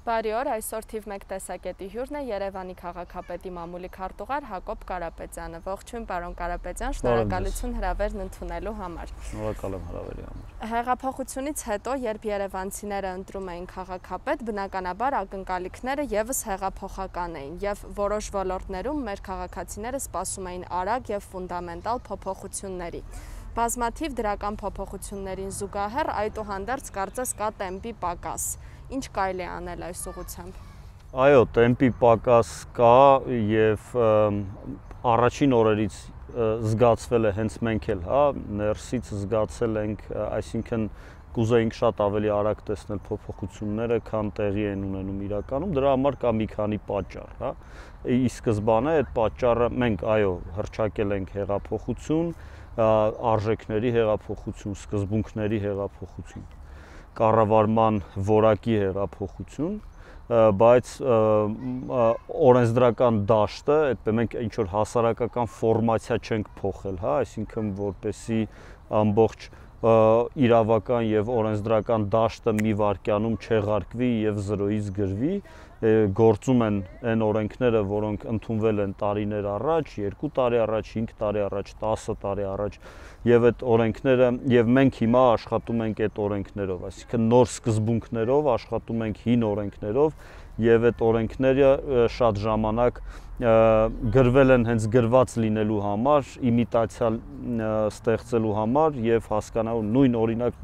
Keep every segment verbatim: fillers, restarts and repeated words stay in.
Բարի օր, այսօր թիվ մեկ տեսակետի հյուրն է Երևանի քաղաքապետի մամուլի քարտուղար Հակոբ Կարապետյանը։ Ողջույն, պարոն Կարապետյան, շնորհակալություն հրավերն ընդունելու համար։ Շնորհակալ եմ հրավերի համար։ Հեղափոխությունից հետո, երբ երևանցիները ընտրում էին քաղաքապետ, բնականաբար ակնկալիքները եւս հեղափոխական էին, եւ որոշ ոլորտներում մեր քաղաքացիները սպասում էին արագ եւ ֆունդամենտալ փոփոխությունների։ Բազմաթիվ դրական փոփոխություններին զուգահեռ այդուհանդերձ կարծես կա տեմպի պակաս։ Ինչ կարելի է անել այս ուղղությամբ։ Այո, տեմպի պակաս կա եւ առաջին օրերից զգացվել է հենց մենք էլ, հա, ներսից զգացել ենք, այսինքն կուզեինք շատ ավելի արագ տեսնել փոփոխությունները, քան տեղի են ունենում իրականում, դրա համար կա մի քանի պատճառ, հա։ Ի սկզբանե այդ պատճառը մենք այո, հռչակել ենք հեղափոխություն, արժեքների հեղափոխություն, սկզբունքների հեղափոխություն, կառավարման որակի հեղափոխություն, բայց օրենսդրական դաշտը, այդպես մենք ինչ որ հասարակական ֆորմացիա չենք փոխել, հա, այսինքն որպեսի ամբողջ իրավական եւ օրենսդրական դաշտը մի վայրկյանում չեղարկվի եւ զրոյից գրվի, գործում են այն օրենքները, որոնք ընդունվել են տարիներ առաջ, երկու տարի առաջ, հինգ տարի առաջ, տասը տարի առաջ, եւ այդ օրենքները եւ մենք հիմա աշխատում ենք այդ օրենքներով, այսինքն նոր սկզբունքներով աշխատում ենք հին օրենքներով եւ այդ օրենքները շատ ժամանակ գրվել են հենց գրված լինելու համար, իմիտացիա ստեղծելու համար եւ հասկանալու նույն օրինակ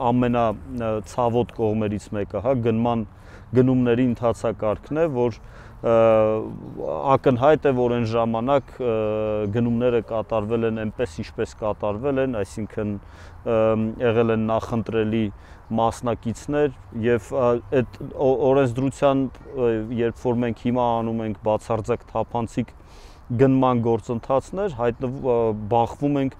ամենացավոտ կողմերից մեկը, հա, գնման գնումների ընթացակարգն է, որ ակնհայտ է, որ այն ժամանակ գնումները կատարվել են այնպես, ինչպես կատարվել են, այսինքն եղել են նախընտրելի մասնակիցներ եւ այդ օրենսդրության, երբ որ մենք հիմա անում ենք բացարձակ թափանցիկ գնման գործընթացներ, հայտնվում բախվում ենք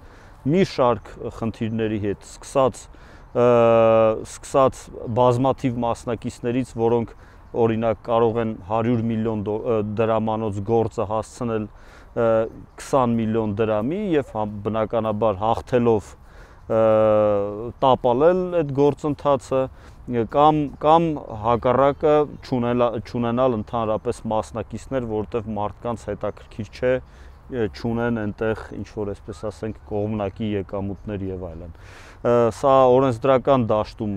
մի շարք խնդիրների հետ, սկսած սկսած բազմաթիվ մասնակիցներից, որոնք օրինակ կարող են հարյուր միլիոն դրամանոց գործը հասցնել քսան միլիոն դրամի եւ բնականաբար հաղթելով տապալել այդ գործընթացը կամ կամ հակառակը չունենալ ընդհանրապես մասնակիցներ, որտեղ մարդկանց հետաքրքիր չէ չունեն այնտեղ ինչ որ այսպես ասենք կողմնակի եկամուտներ եւ այլն։ Սա օրենսդրական դաշտում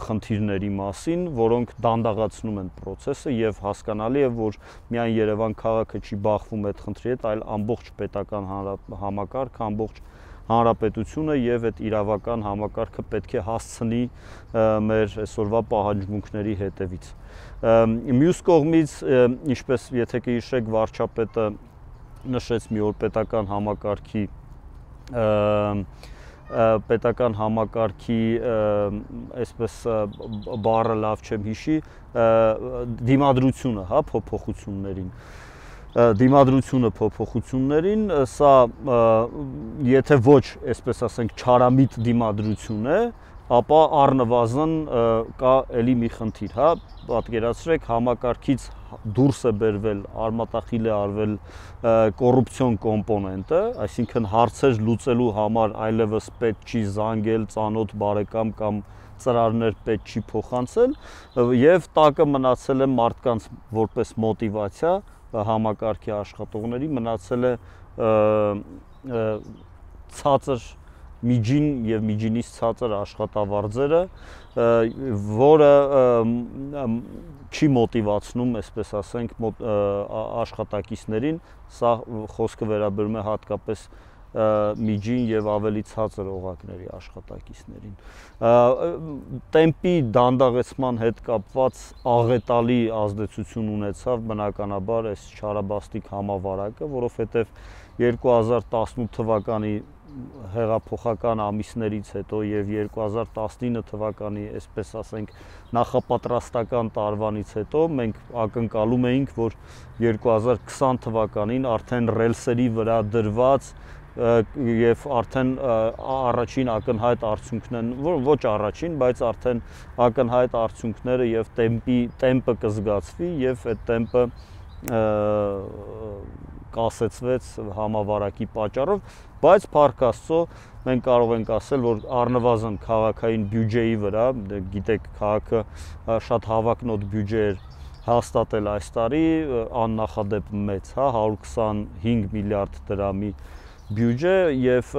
խնդիրների մասին, որոնք դանդաղացնում են process-ը եւ հասկանալի է, որ միայն Երևան քաղաքը չի բախվում այդ խնդրի հետ, այլ ամբողջ պետական համակարգը, ամբողջ հանրապետությունը եւ այդ իրավական համակարգը պետք է հասցնի մեր այսօրվա պահանջմունքների հետևից։ Մյուս կողմից, ինչպես եթե կհիշեք, վարչապետը նշեց մի օր պետական համակարգի պետական համակարգի այսպես բառը լավ չեմ հիշի, դիմադրությունը, հա, փոփոխություններին դիմադրությունը փոփոխություններին, սա եթե ոչ, այսպես ասենք, չարամիտ դիմադրություն է, ապա առնվազն կա էլի մի խնդիր, հա, պատկերացրեք համակարգից դուրս է բերվել, արմատախիլ է արվել կոռուպցիոն կոմպոնենտը, այսինքն հարցեր լուծելու համար այլևս պետք չի զանգել ծանոթ բարեկամ կամ ծրարներ պետք չի փոխանցել եւ տակը մնացել է մարդկանց որպես մոտիվացիա համակարգի աշխատողների մնացել է ցածր միջին եւ միջինից ցածր աշխատավարձերը, որը չի մոտիվացնում, այսպես ասենք, աշխատակիցներին, սա խոսքը վերաբերում է հատկապես միջին եւ ավելի ցածր օղակների աշխատակիցներին։ Տեմպի դանդաղեցման հետ կապված աղետալի ազդեցություն ունեցավ բնականաբար այս չարաբաստիկ համավարակը, որովհետեւ երկու հազար տասնութ թվականի հեղափոխական ամիսներից հետո եւ երկու հազար տասնինը թվականի, այսպես ասենք, նախապատրաստական տարվանից հետո մենք ակնկալում էինք, որ երկու հազար քսան թվականին արդեն ռելսերի վրա դրված եւ արդեն առաջին ակնհայտ արդյունքներն, ոչ առաջին, բայց արդեն ակնհայտ արդյունքները եւ տեմպի տեմպը կզգացվի եւ այդ տեմպը կասեցվեց համավարակի պատճառով, բայց փառք Աստծո մենք կարող ենք ասել, որ առնվազն քաղաքային բյուջեի վրա, գիտեք, քաղաքը շատ հավակնոտ բյուջե էր հաստատել այս տարի, աննախադեպ մեծ, հա, հարյուր քսանհինգ միլիարդ դրամի բյուջե եւ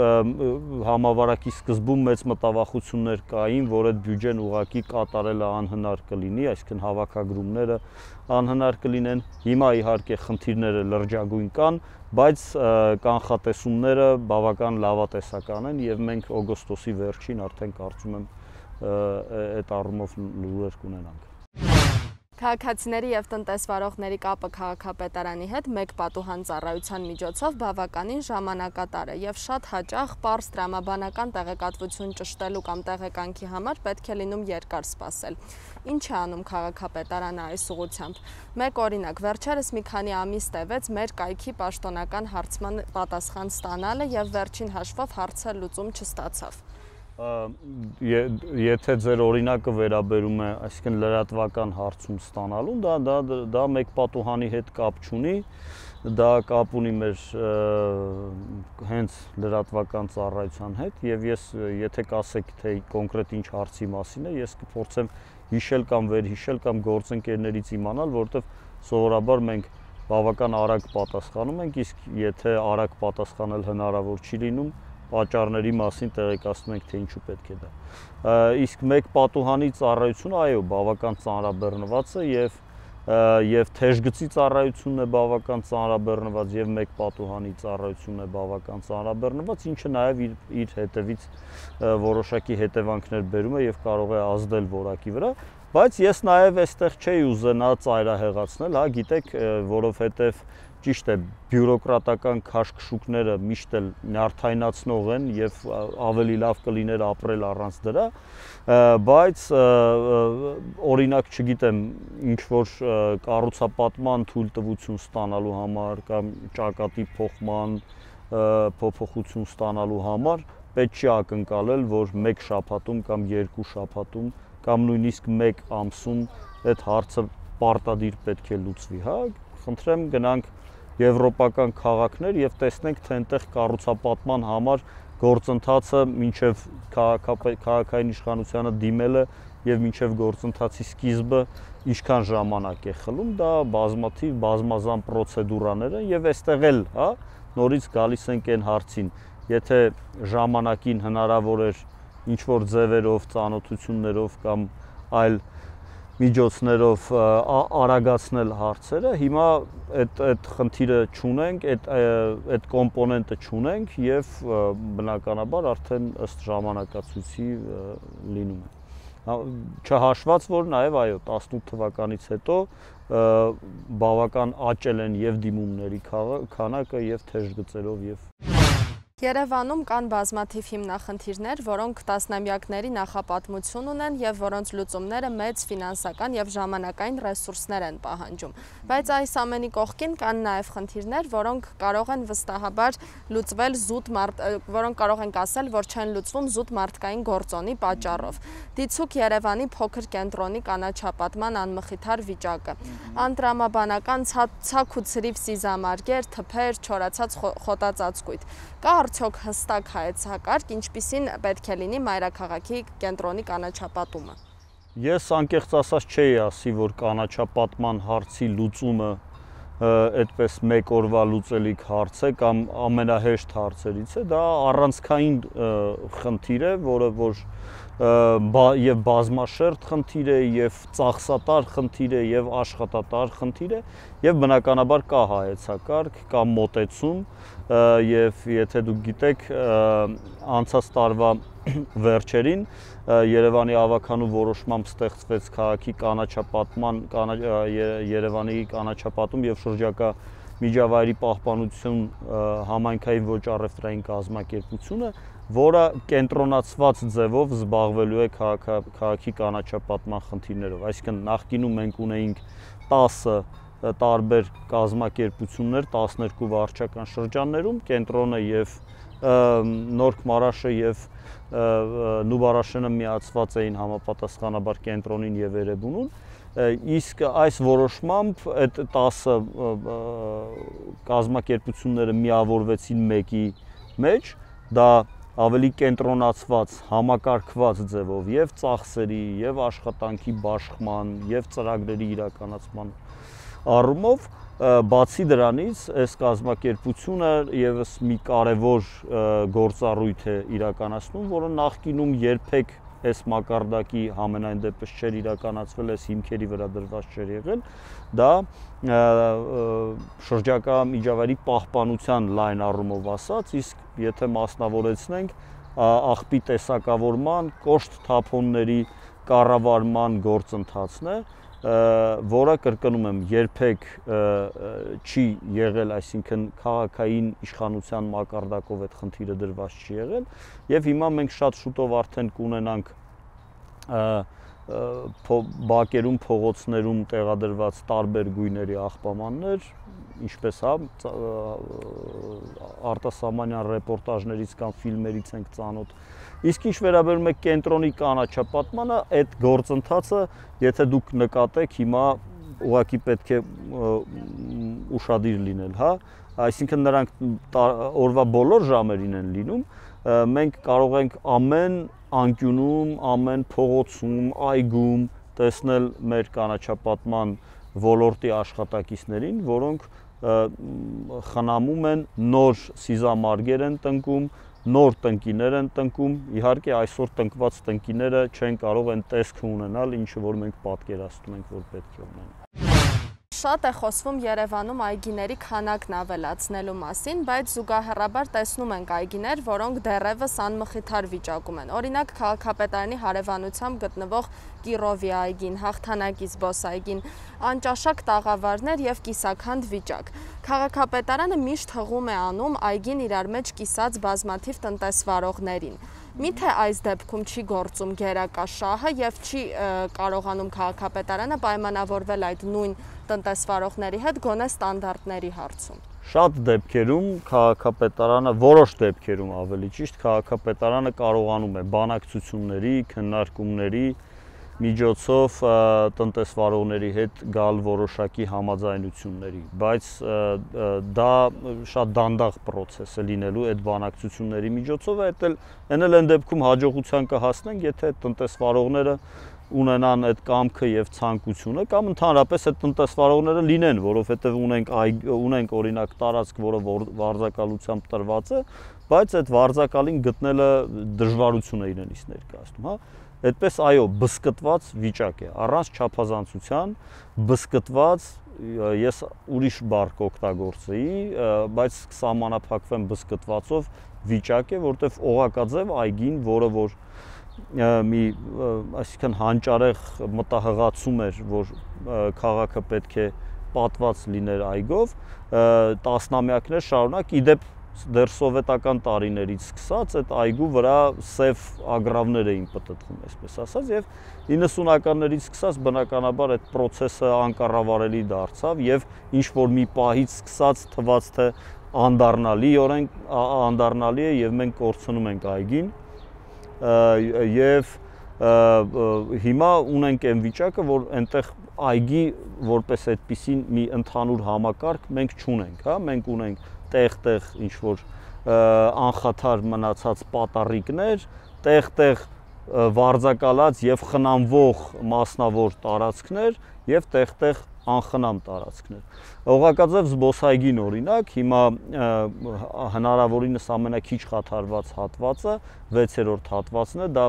համավարակի սկզբում մեծ մտավախություններ կային, որ այդ բյուջեն ուղղակի կատարելը անհնար կլինի, այսինքն հավաքագրումները անհնար կլինեն։ Հիմա իհարկե խնդիրները լրջագույն կան, բայց կանխատեսումները բավական լավատեսական են եւ մենք օգոստոսի վերջին արդեն կարծում եմ այդ առումով լուրեր կունենանք։ Քաղաքացիների եւ տնտեսվարողների կապը քաղաքապետարանի հետ մեկ պատուհան ծառայության միջոցով բավականին ժամանակատար է եւ շատ հաճախ պարզ տրամաբանական տեղեկատվություն ճշտելու կամ տեղեկանքի համար պետք է լինում երկար սպասել։ Ինչ է անում քաղաքապետարանը այս ուղղությամբ։ Մեկ օրինակ, վերջերս մի քանի ամիս տևեց մեր կայքի պաշտոնական հարցման պատասխան ստանալը եւ վերջին հաշվով հարցը լուծում չստացավ։ Եթե ձեր օրինակը վերաբերում է, այսինքն լրատվական հարցում ստանալուն, դա դա դա մեկ պատուհանի հետ կապ չունի, դա կապ ունի մեր հենց լրատվական ծառայության հետ եւ ես եթե կասեք թե կոնկրետ ինչ հարցի մասին է, ես կփորձեմ հիշել կամ վերհիշել կամ գործընկերներից իմանալ, որովհետեւ սովորաբար մենք բավական արագ պատասխանում ենք, իսկ եթե արագ պատասխանել հնարավոր չի լինում, պատճառների մասին տեղեկացնում ենք, թե ինչու պետք է դա։ Իսկ մեկ պատուհանի ծառայությունը, այո, բավական ծանրաբեռնված է եւ եւ թեժգծի ծառայությունն է բավական ծանրաբեռնված եւ մեկ պատուհանի ծառայությունն է բավական ծանրաբեռնված, ինչը նաեւ իր, իր հետևից որոշակի հետևանքներ բերում է եւ կարող է ազդել որակի վրա, բայց ես նաեւ այստեղ չէի ուզենա ծայրահեղացնել, հա, գիտեք, որովհետեւ ճիշտ է, բյուրոկրատական քաշքշուկները միշտ էլ նյարդայնացնող են եւ ավելի լավ կլիներ ապրել առանց դրա, բայց օրինակ, չգիտեմ, ինչ որ կառուցապատման թույլտվություն ստանալու համար կամ ճակատի փոխման փոփոխություն ստանալու համար պետք չի ակնկալել, որ մեկ շաբաթում կամ երկու շաբաթում կամ նույնիսկ մեկ ամսում այդ հարցը պարտադիր պետք է լուծվի, հա, խնդրեմ գնանք եվրոպական քաղաքներ եւ տեսնենք, թե այնտեղ կառուցապատման համար գործընթացը մինչեւ քաղաքային իշխանությանը դիմելը եւ մինչեւ գործընթացի սկիզբը ինչքան ժամանակ է խլում, դա բազմաթիվ բազմազան պրոցեդուրաներ են եւ այստեղ էլ, հա, նորից գալիս ենք այն հարցին, եթե ժամանակին հնարավոր էր ինչ որ ձևերով, ծանոթություններով կամ այլ միջոցներով արագացնել հարցերը, հիմա այդ այդ խնդիրը չունենք, այդ այդ կոմպոնենտը չունենք եւ բնականաբար արդեն ըստ ժամանակացույցի լինում է։ Չհաշված, որ նաեւ այո, տասնութ թվականից հետո բավական աճել են եւ դիմումների քանակը եւ թեժգծերով եւ Երևանում կան բազմաթիվ հիմնախնդիրներ, որոնք տասնամյակների նախապատմություն ունեն եւ որոնց լուծումները մեծ ֆինանսական եւ ժամանակային ռեսուրսներ են պահանջում։ Բայց այս ամենի կողքին կան նաեւ խնդիրներ, որոնք կարող են վստահաբար լուծվել զուտ մարդ, որոնք կարող ենք ասել, որ չեն լուծվում զուտ մարդկային գործոնի պատճառով։ Դիցուք Երևանի փոքր կենտրոնի կանաչապատման անմխիթար վիճակը, անտրամաբանական ցակ ու ցրիվ սիզամարգեր, թփեր, չորացած խոտածածկույթ։ Կա արդյոք հստակ հայեցակարգ, ինչպիսին պետք է լինի մայրաքաղաքի կենտրոնի կանաչապատումը։ Ես անկեղծ ասած չէի ասի, որ կանաչապատման հարցի լուծումը այդպես մեկ օրվա լուծելիք հարց է կամ ամենահեշտ հարցերից է, դա առանցքային խնդիր է, որը որ եւ բազմաշերտ խնդիր է, եւ ծախսատար խնդիր է, եւ աշխատատար խնդիր է, եւ բնականաբար կա հայեցակարգ, կա մոտեցում, եւ եթե դուք գիտեք, անցած տարվա վերջերին Երևանի ավականու որոշմամբ ստեղծվեց քաղաքի կանաչապատման, Երևանի կանաչապատում եւ շրջակա միջավայրի պահպանություն համայնքային ոչ առևտրային կազմակերպությունը, որը կենտրոնացված ձևով զբաղվելու է քաղաքի կանաչապատման խնդիրներով։ Այսինքն նախկինում մենք ունեինք տասը տարբեր կազմակերպություններ տասներկու վարչական շրջաններում, կենտրոնը եւ Նորք Մարաշը եւ Նուբարաշենը միացված էին համապատասխանաբար կենտրոնին եւ Էրեբունուն, Իսկ այս որոշմամբ այդ տասը կազմակերպությունները միավորվեցին մեկի մեջ, դա ավելի կենտրոնացված, համակարգված ձևով եւ ծախսերի, եւ աշխատանքի բաշխման, եւ ծրագրերի իրականացման առումով, բացի դրանից, այս կազմակերպությունը եւս մի կարևոր գործառույթ է իրականացնում, որը նախկինում երբեք այս մակարդակի համենայն դեպս չէր իրականացվել, այս հիմքերի վրա դրված չէր եղել, դա շրջակա միջավայրի պահպանության լայն առումով ասած, իսկ եթե մասնավորեցնենք, աղբի տեսակավորման, կոշտ թափոնների կառավարման գործընթացն է, որը կրկնում եմ, երբեք չի եղել, այսինքն քաղաքային իշխանության մակարդակով այդ խնդիրը դրված չի եղել, եւ հիմա մենք շատ շուտով արդեն կունենանք բակերում, փողոցներում տեղադրված տարբեր գույների աղբամաններ, ինչպես հա արտասահմանյան ռեպորտաժներից կամ ֆիլմերից ենք ծանոթ։ Իսկ ինչ վերաբերում է կենտրոնի կանաչապատմանը, այդ գործընթացը, եթե դուք նկատեք, հիմա ուղղակի պետք է ուշադիր լինել, հա, այսինքն նրանք օրվա բոլոր ժամերին են լինում, մենք կարող ենք ամեն անկյունում, ամեն փողոցում, այգում տեսնել մեր կանաչապատման ոլորտի աշխատակիցներին, որոնք խնամում են, նոր սիզամարգեր են տնկում, նոր տնկիներ են տնկում, իհարկե այսօր տնկված տնկիները չեն կարող այն տեսքը ունենալ, ինչը որ մենք պատկերացնում ենք, որ պետք է ունենան։ Շատ է խոսվում Երևանում այգիների քանակն ավելացնելու մասին, բայց զուգահեռաբար տեսնում ենք այգիներ, որոնք դեռևս անմխիթար վիճակում են։ Օրինակ, քաղաքապետարանի հարևանությամբ գտնվող Կիրովի այգին, Հաղթանակի զբոսայգին, անճաշակ տաղավարներ եւ կիսաքանդ վիճակ։ Քաղաքապետարանը միշտ հղում է անում այգին իրար մեջ կիսած բազմաթիվ տնտեսվարողներին։ Միթե այս դեպքում չի գործում գերակա շահը եւ չի կարողանում քաղաքապետարանը պայմանավորվել այդ նույն տնտեսվարողների հետ գոնե ստանդարտների հարցում։ Շատ դեպքերում քաղաքապետարանը, որոշ դեպքերում ավելի ճիշտ, քաղաքապետարանը կարողանում է բանակցությունների, քննարկումների միջոցով տնտեսվարողների հետ գալ որոշակի համաձայնությունների, բայց դա շատ դանդաղ պրոցես է լինելու այդ բանակցությունների միջոցով, այդ էլ այն դեպքում հաջողության կհասնենք, եթե տնտեսվարողները ունենան այդ կամքը եւ ցանկությունը կամ ընդհանրապես այդ տնտեսվարողները լինեն, որովհետեւ ունենք ունենք օրինակ տարածք, որը վարձակալությամբ տրված է, բայց այդ վարձակալին գտնելը դժվարություն է իրենից ներկայացնում, հա։ Այդպես այո, բսկտված վիճակ է, առանց չափազանցության, բսկտված, ես ուրիշ բառ կօգտագործեի, բայց սահմանափակվեմ բսկտվածով վիճակ է, որտեղ օղակաձև այգին, որը որ մի այսինքն հանճարեղ մտահղացում էր, որ քաղաքը պետք է պատված լիներ այգով, տասնամյակներ շարունակ, իդեպ դեռ սովետական տարիներից սկսած այդ այգու վրա սև ագռավներ էին պտտվում, այսպես ասած, եւ իննսունականներից սկսած բնականաբար այդ process-ը անկառավարելի դարձավ եւ ինչ որ մի պահից սկսած թվաց թե անդառնալիորեն անդառնալի է եւ մենք կորցնում ենք այգին եւ հիմա ունենք այն վիճակը, որ այնտեղ այգի որպես այդպիսին մի ընդհանուր համակարգ մենք չունենք, հա, մենք ունենք տեղ-տեղ ինչ-որ անխաթար մնացած պատառիկներ, տեղ-տեղ վարձակալած եւ խնամվող մասնավոր տարածքներ եւ տեղ-տեղ անխնամ տարածքներ։ Օղակաձև զբոսայգին օրինակ, հիմա հնարավորինս ամենաքիչ խաթարված հատվածը, վեցերորդ հատվածն է, դա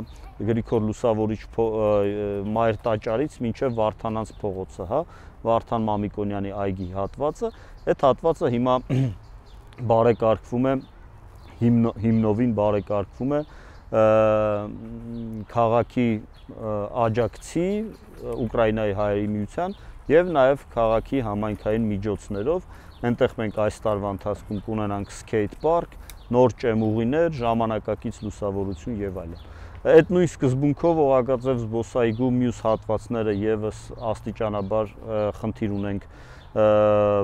Գրիգոր Լուսավորիչ Մայր տաճարից մինչև Վարդանանց փողոցը, հա, Վարդան Մամիկոնյանի այգի հատվածը, այդ հատվածը հիմա բարեկարգվում է, հիմնովին բարեկարգվում է քաղաքի աջակցի Ուկրաինայի հայերի միության եւ նաեւ քաղաքի համայնքային միջոցներով, այնտեղ մենք այս տարվա ընթացքում կունենանք սկեյթ պարկ, նոր ճեմուղիներ, ժամանակակից լուսավորություն եւ այլն։ Այդ նույն սկզբունքով Օղակաձև զբոսայգու մյուս հատվածները եւս աստիճանաբար խնդիր ունենք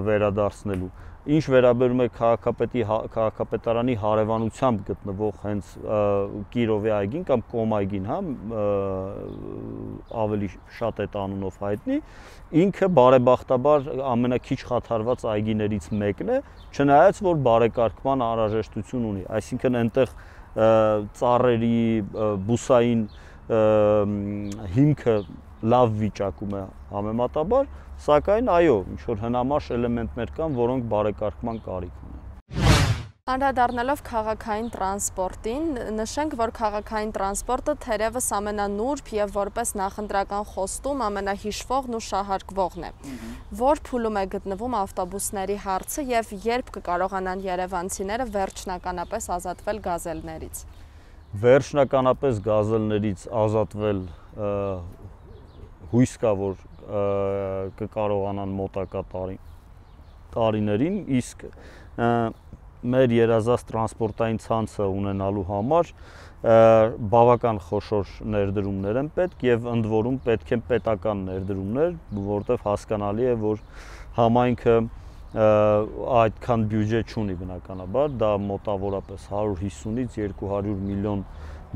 վերադարձնելու։ Ինչ վերաբերում է քաղաքապետի քաղաքապետարանի հարևանությամբ գտնվող հենց Կիրովի այգին կամ Կոմ այգին, հա, ավելի շատ այդ անունով հայտնի, ինքը բարեբախտաբար ամենաքիչ խաթարված այգիներից մեկն է, չնայած որ բարեկարգման անհրաժեշտություն ունի, այսինքն այնտեղ ծառերի, բուսային հիմքը լավ վիճակում է համեմատաբար, սակայն այո, ինչ-որ հնամաշ էլեմենտներ կան, որոնք բարեկարգման կարիք ունեն։ Անդրադառնալով քաղաքային տրանսպորտին, նշենք, որ քաղաքային տրանսպորտը թերևս ամենանուրբ եւ որպես նախընտրական խոստում ամենահիշվողն ու շահարկվողն է։ Որ փուլում է գտնվում ավտոբուսների հարցը եւ երբ կկարողանան երևանցիները վերջնականապես ազատվել գազելներից։ Վերջնականապես գազելներից ազատվել հույս կա, որ կկարողանան մոտակա տարի, տարիներին, իսկ մեր երազած տրանսպորտային ցանցը ունենալու համար բավական խոշոր ներդրումներ են պետք եւ ընդ որում պետք են պետական ներդրումներ, որտեղ հասկանալի է, որ համայնքը այդքան բյուջե չունի բնականաբար, դա մոտավորապես հարյուր հիսունից երկու հարյուր միլիոն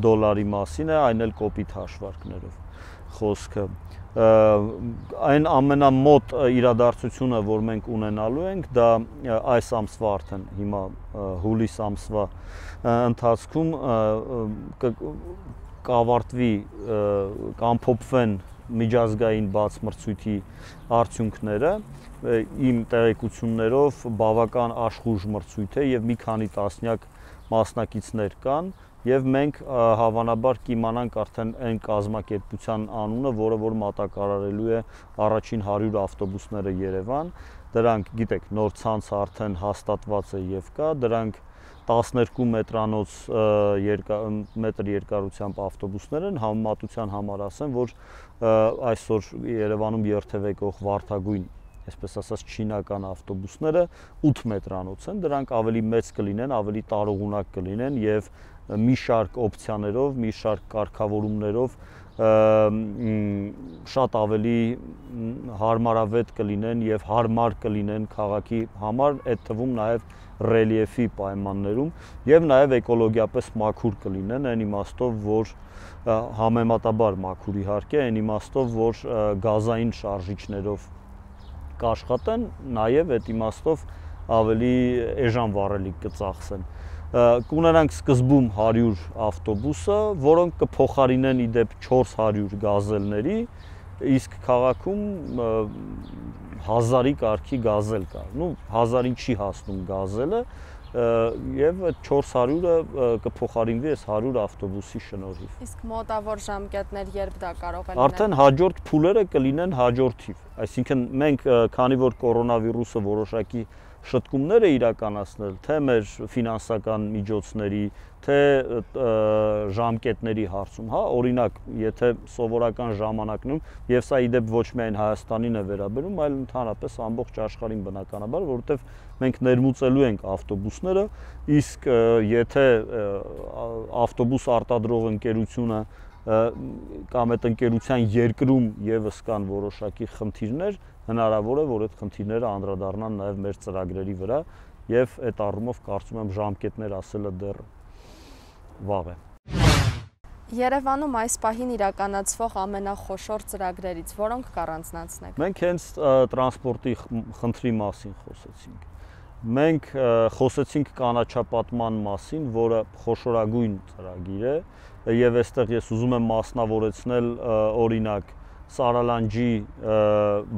դոլարի մասին է, այն էլ կոպիտ հաշվարկներով խոսքը։ Այն ամենամոտ իրադարձությունը, որ մենք ունենալու ենք, դա այս ամսվա արդեն հիմա հուլիս ամսվա ընթացքում կավարտվի, կամփոփվեն միջազգային բաց մրցույթի արդյունքները, իմ տեղեկություններով բավական աշխուժ մրցույթ է եւ մի քանի տասնյակ մասնակիցներ կան եւ մենք հավանաբար կիմանանք արդեն այն կազմակերպության անունը, որը որ մատակարարելու է առաջին հարյուր ավտոբուսները Երևան, դրանք գիտեք, նոր ցանցը արդեն հաստատված է եւ կա, դրանք տասներկու մետրանոց մետր երկարությամբ ավտոբուսներ են, համեմատության համար ասեմ, որ այսօր Երևանում երթևեկող վարդագույն, այսպես ասած չինական ավտոբուսները ութ մետրանոց են, դրանք ավելի մեծ կլինեն, ավելի տարողունակ կլինեն եւ մի շարք օպցիաներով, մի շարք կարգավորումներով շատ ավելի հարմարավետ կլինեն եւ հարմար կլինեն քաղաքի համար, այդ թվում նաեւ ռելիեֆի պայմաններում եւ նաեւ էկոլոգիապես մաքուր կլինեն, այն իմաստով, որ համեմատաբար մաքուր իհարկե, այն իմաստով, որ գազային շարժիչներով կաշխատեն, նաեւ այդ իմաստով ավելի էժան վառելիք կծախսեն։ Կունենանք սկզբում հարյուր ավտոբուսը, որոնք կփոխարինեն իդեպ չորս հարյուր գազելների, իսկ քաղաքում հազարի կարգի գազել կա։ Ну, հազարին չի հասնում գազելը, եւ այդ չորս հարյուրը կփոխարինվի այս հարյուր ավտոբուսի շնորհիվ։ Իսկ մոտավոր ժամկետներ երբ դա կարող է լինել։ Արդեն հաջորդ փուլերը կլինեն հաջորդիվ, այսինքն մենք քանի որ կորոնավիրուսը որոշակի շտկումներ է իրականացնել, թե մեր ֆինանսական միջոցների, թե ժամկետների հարցում, հա, օրինակ, եթե սովորական ժամանակնում, եւ սա իդեպ ոչ միայն Հայաստանին է վերաբերում, այլ ընդհանրապես ամբողջ աշխարհին բնականաբար, որովհետեւ մենք ներմուծելու ենք ավտոբուսները, իսկ եթե ավտոբուս արտադրող ընկերությունը կամ այդ ընկերության երկրում եւս կան որոշակի խնդիրներ, հնարավոր է, որ այդ խնդիրները անդրադառնան նաեւ մեր ծրագրերի վրա եւ այդ առումով կարծում եմ ժամկետներ ասելը դեռ վաղ է։ Երևանում այս պահին իրականացվող ամենախոշոր ծրագրերից որոնք կառանձնացնեք։ Մենք հենց տրանսպորտի խնդրի մասին խոսեցինք։ Մենք խոսեցինք կանաչապատման մասին, որը խոշորագույն ծրագիր է եւ այստեղ ես ուզում եմ մասնավորեցնել օրինակ Սարալանջի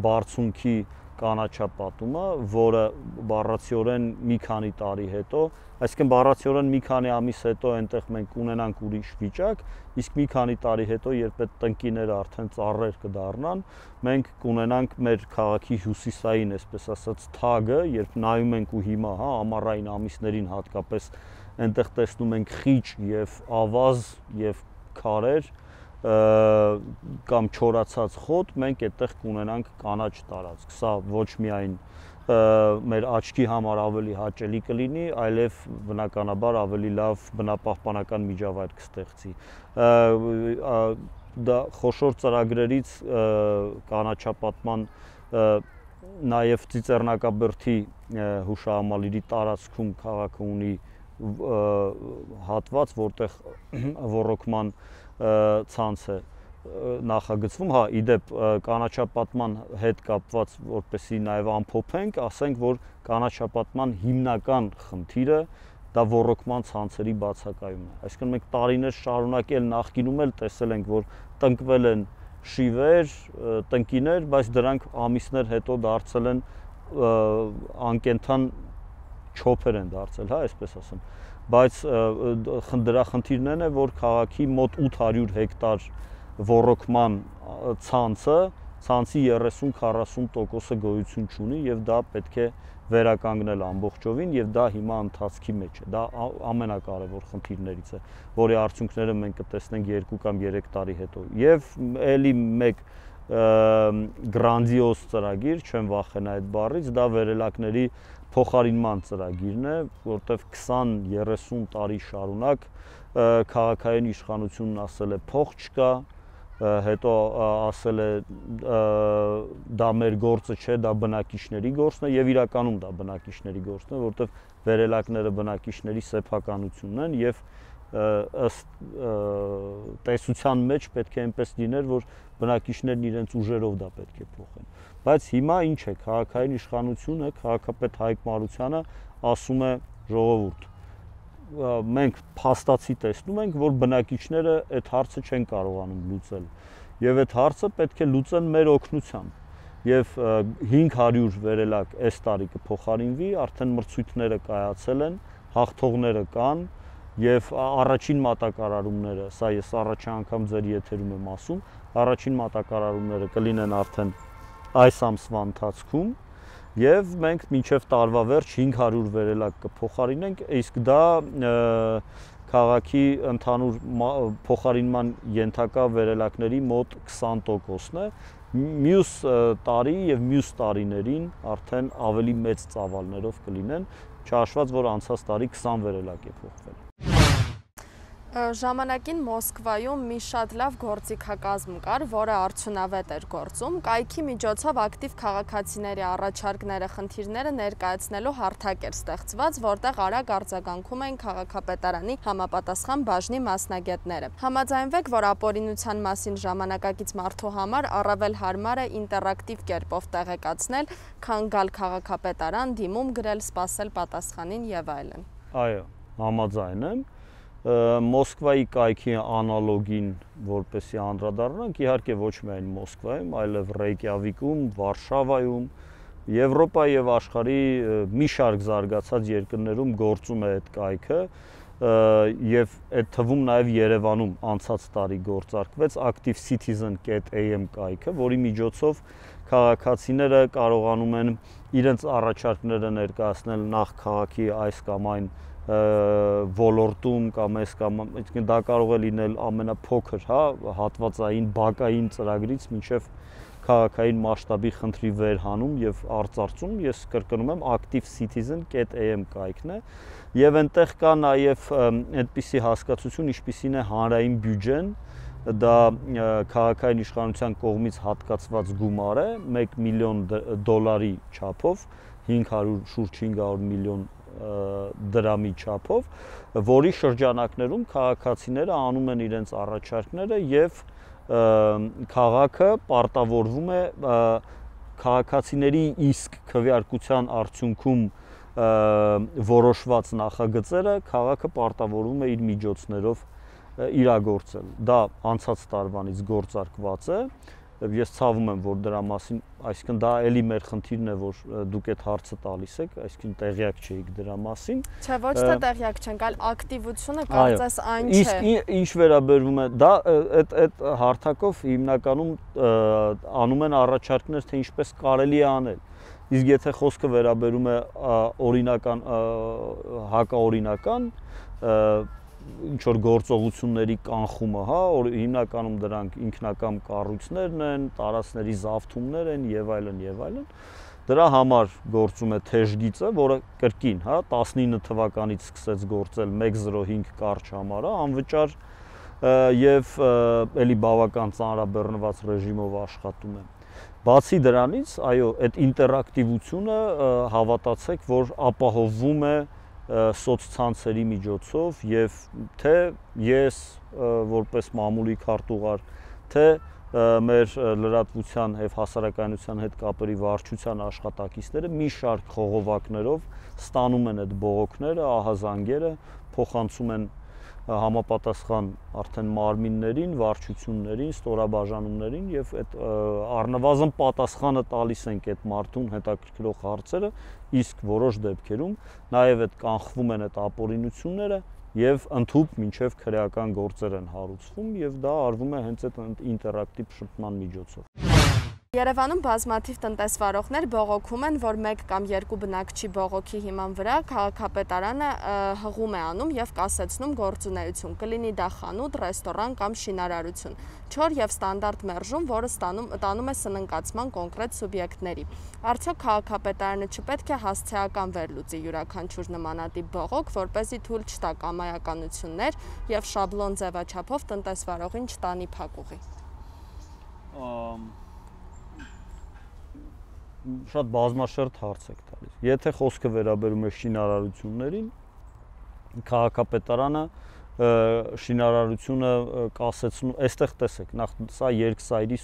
բարձունքի կանաչապատումը, որը բառացիորեն մի քանի տարի հետո, այսինքն բառացիորեն մի քանի ամիս հետո այնտեղ մենք ունենանք ուրիշ վիճակ, իսկ մի քանի տարի հետո, երբ այդ տնկիները արդեն ծառեր կդառնան, մենք կունենանք մեր քաղաքի հյուսիսային, այսպես ասած, թագը, երբ նայում ենք ու հիմա, հա, ամառային ամիսներին հատկապես այնտեղ տեսնում ենք խիճ եւ ավազ եւ քարեր կամ չորացած խոտ, մենք այդտեղ կունենանք կանաչ տարածք։ Սա ոչ միայն մեր աչքի համար ավելի հաճելի կլինի, այլև բնականաբար ավելի լավ բնապահպանական միջավայր կստեղծի։ Դա խոշոր ծրագրերից կանաչապատման նաև Ծիծեռնակաբերդի հուշահամալիրի տարածքում քաղաքը ունի հատված, որտեղ ոռոգման ցանց է նախագծվում, հա, իդեպ կանաչապատման հետ կապված, որպեսզի նաև ամփոփենք, ասենք, որ կանաչապատման հիմնական խնդիրը դա ոռոգման ցանցերի բացակայումն է։ Այսինքն մենք տարիներ շարունակ էլ նախկինում էլ տեսել ենք, որ տնկվել են շիվեր, տնկիներ, բայց դրանք ամիսներ հետո դարձել են անկենդան չոփեր են դարձել, հա, այսպես ասեմ։ Բայց դրա խնդիրն է, որ քաղաքի մոտ ութ հարյուր հեկտար ոռոգման ցանցը, ցանցի երեսուն քառասուն տոկոսը գոյություն չունի եւ դա պետք է վերականգնել ամբողջովին եւ դա հիմա ընթացքի մեջ է։ Դա ամենակարևոր խնդիրներից է, որի արդյունքները մենք կտեսնենք երկու կամ երեք տարի հետո։ Եվ ելի մեկ գրանձիոզ ծրագիր, չեմ վախենա այդ բառից, դա վերելակների փոխարինման ծրագիրն է, որտեղ քսան երեսուն տարի շարունակ քաղաքային իշխանությունն ասել է փող չկա, հետո ասել է դա մեր գործը չէ, դա բնակիչների գործն է եւ իրականում դա բնակիչների գործն է, որտեղ վերելակները բնակիչների սեփականությունն են եւ ըստ տեսության մեջ պետք է այնպես լիներ, որ բնակիչներն իրենց ուժերով դա պետք է փոխեն։ Բայց հիմա ինչ է, քաղաքային իշխանությունը, քաղաքապետ Հայկ Մարությանը ասում է ժողովուրդ, մենք փաստացի տեսնում ենք, որ բնակիչները այդ հարցը չեն կարողանում լուծել եւ այդ հարցը պետք է լուծեն մեր օգնությամբ եւ հինգ հարյուր վերելակ այս տարի կփոխարինվի, արդեն մրցույթները կայացել են, հաղթողները կան եւ առաջին մատակարարումները, սա ես առաջ անգամ ձեր եթերում եմ ասում, առաջին մատակարարումները կլինեն արդեն այս ամսվա ընթացքում եւ մենք մինչեւ տարվա վերջ հինգ հարյուր վերելակ կփոխարինենք, իսկ դա քաղաքի ընդհանուր փոխարինման ենթակա վերելակների մոտ քսան տոկոսն է։ Մյուս տարի եւ մյուս տարիներին արդեն ավելի մեծ ծավալներով կլինեն, չհաշված որ անցած տարի քսան վերելակ է փոխվել։ Ժամանակին Մոսկվայում մի շատ լավ գործիքակազմ կար, որը արդյունավետ էր գործում, կայքի միջոցով ակտիվ քաղաքացիների առաջարկները, խնդիրները ներկայացնելու հարթակ էր ստեղծված, որտեղ արագ արձագանքում էին քաղաքապետարանի համապատասխան բաժնի մասնագետները։ Համաձայնվեք, որ ապօրինության մասին ժամանակակից մարդու համար առավել հարմար է ինտերակտիվ կերպով տեղեկացնել, քան գալ քաղաքապետարան, դիմում գրել, սպասել պատասխանին եւ այլն։ Այո, համաձայն եմ։ Մոսկվայի կայքի անալոգին, որպեսի անդրադառնանք, իհարկե ոչ միայն Մոսկվայում, այլև Ռեյկյավիկում, Վարշավայում, Եվրոպայի եւ աշխարհի մի շարք զարգացած երկրներում գործում է այդ կայքը եւ այդ թվում նաեւ Երևանում անցած տարի գործարկվեց active citizen dot a m կայքը, որի միջոցով քաղաքացիները կարողանում են իրենց առաջարկները ներկայացնել նախ քաղաքի այս կամ այն ոլորտում կամ այս կամ դա կարող է լինել ամենափոքր, հա, հատվածային բակային ծրագրից մինչև քաղաքային մասշտաբի խնդրի վերհանում եւ արծարծում, ես կրկնում եմ active citizen dot a m կայքն է եւ այնտեղ կա նաեւ այդպիսի հասկացություն, ինչպիսին է հանրային բյուջեն, դա քաղաքային իշխանության կողմից հատկացված գումար է, մեկ միլիոն դոլարի չափով, հինգ հարյուր շուրջ հինգ հարյուր միլիոն դրամի չափով, որի շրջանակներում քաղաքացիները անում են իրենց առաջարկները եւ քաղաքը պարտավորվում է քաղաքացիների իսկ քվեարկության արդյունքում որոշված նախագծերը քաղաքը պարտավորվում է իր միջոցներով իրագործել։ Դա անցած տարվանից գործարկված է։ Ես ցավում եմ, որ դրա մասին, այսինքն դա էլի մեր խնդիրն է, որ դուք այդ հարցը տալիս եք, այսինքն տեղյակ չէիք դրա մասին։ Չէ, ոչ թե տեղյակ չենք, այլ ակտիվությունը կարծես այն չէ։ Իսկ ինչ վերաբերվում է, դա այդ այդ հարթակով հիմնականում անում են առաջարկներ, թե ինչպես կարելի է անել։ Իսկ եթե խոսքը վերաբերում է օրինական հակաօրինական ինչ որ գործողությունների կանխումը, հա, հիմնականում դրանք ինքնակամ կառույցներն են, տարածքների զավթումներ են եւ այլն եւ այլն։ Դրա համար գործում է թեժգիծը, որը կրկին, հա, տասնինը թվականից սկսեց գործել մեկ զրո հինգ կարճ համարը, անվճար եւ էլի բավական ծանրաբեռնված ռեժիմով աշխատում է։ Բացի դրանից, այո, այդ ինտերակտիվությունը հավատացեք, որ ապահովվում է սոցցանցերի միջոցով եւ թե ես որպես մամուլի քարտուղար, թե մեր լրատվության եւ հասարակայնության հետ կապերի վարչության աշխատակիցները մի շարք խողովակներով ստանում են այդ բողոքները, ահազանգերը, փոխանցում են համապատասխան արդեն մարմիններին, վարչություններին, ստորաբաժանումներին եւ այդ առնվազն պատասխանը տալիս ենք այդ մարդուն հետաքրքրող հարցերը, իսկ որոշ դեպքերում նաեւ այդ կանխվում են այդ ապօրինությունները եւ ընդհուպ մինչեւ քրեական գործեր են հարուցվում եւ դա արվում է հենց այդ ինտերակտիվ շփման միջոցով։ Երևանում բազմաթիվ տնտեսվարողներ բողոքում են, որ մեկ կամ երկու բնակչի բողոքի հիման վրա քաղաքապետարանը հղում է անում եւ կասեցնում գործունեություն, կլինի դա խանութ, ռեստորան կամ շինարարություն, չոր եւ ստանդարտ մերժում, որը ստանում տանում է սննկացման կոնկրետ սուբյեկտների։ Արդյոք քաղաքապետարանը չպետք է հասցեական վերլուծի յուրաքանչյուր նմանատիպ բողոք, որպեսզի թույլ չտա կամայականություններ եւ շաբլոն ձևաչափով տնտեսվարողին չտանի փակուղի։ Շատ բազմաշերտ հարց եք տալիս։ Եթե խոսքը վերաբերում է շինարարություններին, քաղաքապետարանը շինարարությունը կասեցնում, այստեղ տեսեք, նախ սա երկսայրի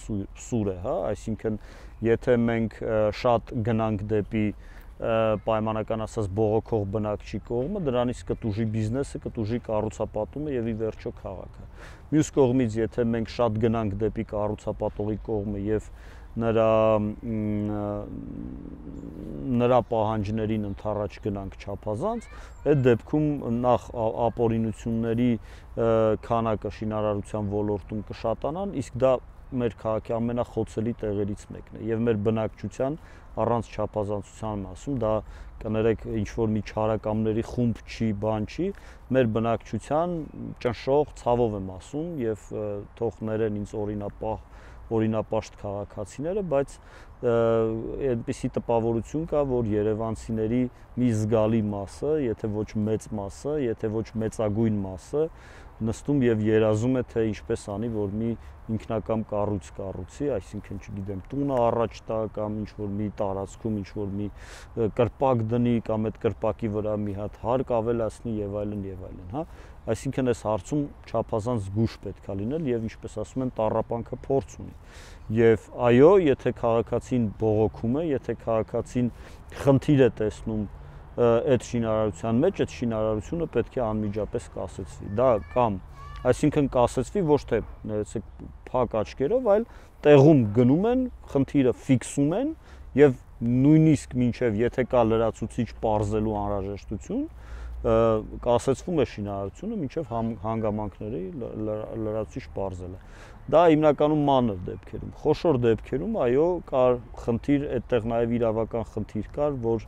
սուր է, հա, այսինքն եթե մենք շատ գնանք դեպի պայմանական ասած բողոքող բնակչի կողմը, դրանից կտուժի բիզնեսը, կտուժի կառուցապատումը եւ ի վերջո քաղաքը։ Մյուս կողմից, եթե մենք շատ գնանք դեպի կառուցապատողի կողմը եւ նրա նրա պահանջներին ընդառաջ գնանք չափազանց, այդ դեպքում նախ ապօրինությունների քանակը շինարարության ոլորտում կշատանան, իսկ դա մեր քաղաքի ամենախոցելի տեղերից մեկն է եւ մեր բնակչության առանց չափազանցության մասում դա կներեք ինչ որ մի չարակամների խումբ չի, բան չի, մեր բնակչության ճնշող ցավով եմ ասում եւ թող ներեն ինձ օրինապահ օրինապաշտ քաղաքացիները, բայց այնպիսի տպավորություն կա, որ երևանցիների մի զգալի մասը, եթե ոչ մեծ մասը, եթե ոչ մեծագույն մասը նստում եւ երազում է, թե ինչպես անի, որ մի ինքնակամ կառույց կառուցի, այսինքն չգիտեմ, տունը առաջ տա կամ ինչ որ մի տարածքում ինչ որ մի կրպակ դնի կամ այդ կրպակի վրա մի հատ հարկ ավելացնի եւ այլն եւ այլն, հա։ Այսինքն այս հարցում չափազանց զգուշ պետք է լինել եւ ինչպես ասում են, տառապանքը փորձ ունի։ Եվ այո, եթե քաղաքացին բողոքում է, եթե քաղաքացին խնդիր է տեսնում այդ շինարարության մեջ, այդ շինարարությունը պետք է անմիջապես կասեցվի։ Դա կամ այսինքն կասեցվի ոչ թե ներեցեք փակ աչքերով, այլ տեղում գնում են, խնդիրը ֆիքսում են եւ նույնիսկ մինչեւ եթե կա լրացուցիչ պարզելու անհրաժեշտություն, կասեցվում է շինարարությունը մինչև հանգամանքների լրացուցիչ պարզելը։ Դա հիմնականում մանր դեպքերում, խոշոր դեպքերում այո, կար խնդիր, այդտեղ նաև իրավական խնդիր կար, որ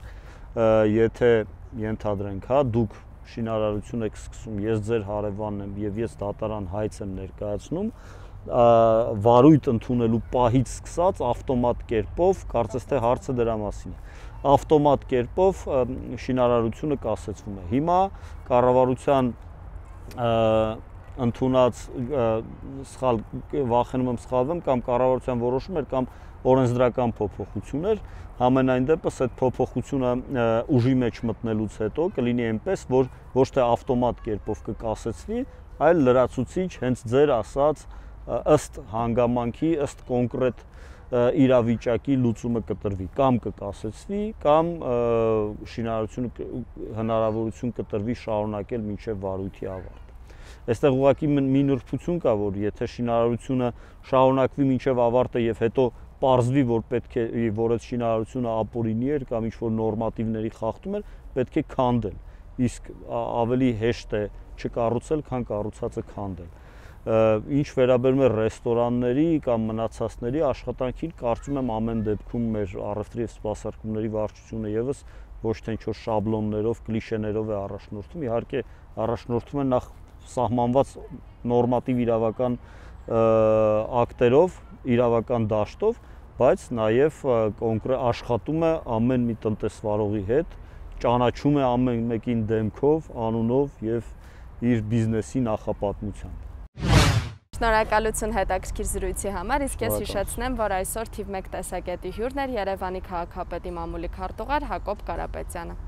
եթե ենթադրենք, հա, դուք շինարարություն եք սկսում, ես ձեր հարևանն եմ եւ ես դատարան հայց եմ ներկայացնում, վարույթ ընդունելու պահից սկսած ավտոմատ կերպով, կարծես թե հարցը դրա մասին է, ավտոմատ կերպով շինարարությունը կասեցվում է։ Հիմա կառավարության ընդունած սխալ վախենում եմ սխալվեմ կամ կառավարության որոշումներ կամ օրենսդրական փոփոխություններ, համենայն դեպս այդ փոփոխությունը ուժի մեջ մտնելուց հետո կլինի այնպես, որ ոչ թե ավտոմատ կերպով կկասեցվի, այլ լրացուցիչ հենց ձեր ասած ըստ հանգամանքի, ըստ կոնկրետ իրավիճակի լուծումը կտրվի, կամ կկասեցվի, կամ շինարարությունը հնարավորություն կտրվի շարունակել մինչև վարույթի ավարտ։ Այստեղ ուղղակի մի նրբություն կա, որ եթե շինարարությունը շարունակվի մինչև ավարտը եւ հետո պարզվի, որ պետք է, որ այդ շինարարությունը ապօրինի էր կամ ինչ-որ նորմատիվների խախտում էր, պետք է քանդել, իսկ ավելի հեշտ է չկառուցել, քան կառուցածը քանդել։ Ինչ վերաբերում է ռեստորանների կամ մնացածների աշխատանքին, կարծում եմ ամեն դեպքում մեր առևտրի եւ սպասարկումների վարչությունը եւս ոչ թե ինչ-որ շաբլոններով, կլիշեներով է առաջնորդվում, իհարկե առաջնորդվում է նախ սահմանված նորմատիվ իրավական ակտերով, իրավական դաշտով, բայց նաեւ կոնկրետ աշխատում է ամեն մի տնտեսվարողի հետ, ճանաչում է ամեն մեկին դեմքով, անունով եւ իր բիզնեսի նախապատմությամբ։ Շնորհակալություն հետաքրքիր զրույցի համար, իսկ ես հիշեցնեմ, որ այսօր թիվ մեկ տեսակետի հյուրն էր Երևանի քաղաքապետի մամուլի քարտուղար Հակոբ Կարապետյանը։